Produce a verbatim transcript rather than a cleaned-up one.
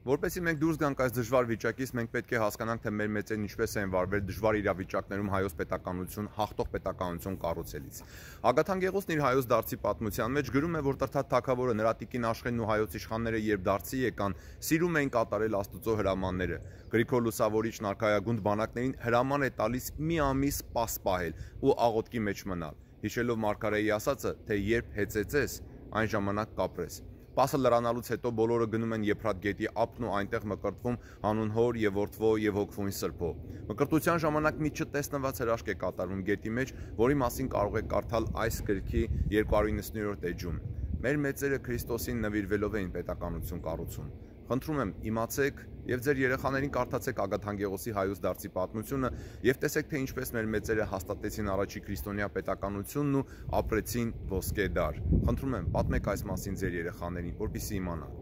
Որպեսզի մենք դուրս գանք այս դժվար վիճակից, մենք պետք է հասկանանք, թե մեր մեծերն ինչպես են վարվել դժվար իրավիճակներում հայոց պետականություն, հաղթող պետականություն կառուցելիս։ Ագաթան Գեղոսն իր հայոց դարձի պատմության մեջ գրում է, որ Տրդատ թագավորը, նրա տիկին Աշխենն ու հայոց իշխանները, երբ դարձի եկան, սիրում էին կատարել Աստծո հրամանները։ Գրիգոր Լուսավորիչն արքայագունդ բանակներին հրաման է տալիս մի ամիս սպաս պահել ու աղոթքի մեջ մնալ, հիշելով մարգարեի ասածը, թե երբ հեծեծես, այն ժամանակ կապրես։ Պասը լրանալուց հետո բոլորը գնում են Եփրատ գետի ափն ու այնտեղ մկրտվում հանուն հոր եւ որդվո եւ հոգվույն սրբո։ Մկրտության ժամանակ մի չտեսնված հրաշք է կատարվում գետի մեջ, որի մասին կարող եք կարդալ այս գրքի երկու հարյուր իննսուններորդ էջում։ Մեր մեծերը Քրիստոսին նվիրվելով էին պետականություն կառուցում։ Խնդրում եմ, իմացեք եւ ձեր երեխաներին կարդացեք Ագաթան Գեղոսի հայոց դարձի պատմությունը եւ տեսեք, թե ինչպես մեր մեծերը հաստատեցին առաջի քրիստոնյա պետականությունն ու ապրեցին ոսկե դար։ Խնդրում եմ, պատմեք այս մասին ձեր երեխաներին, որպեսզի իմանան։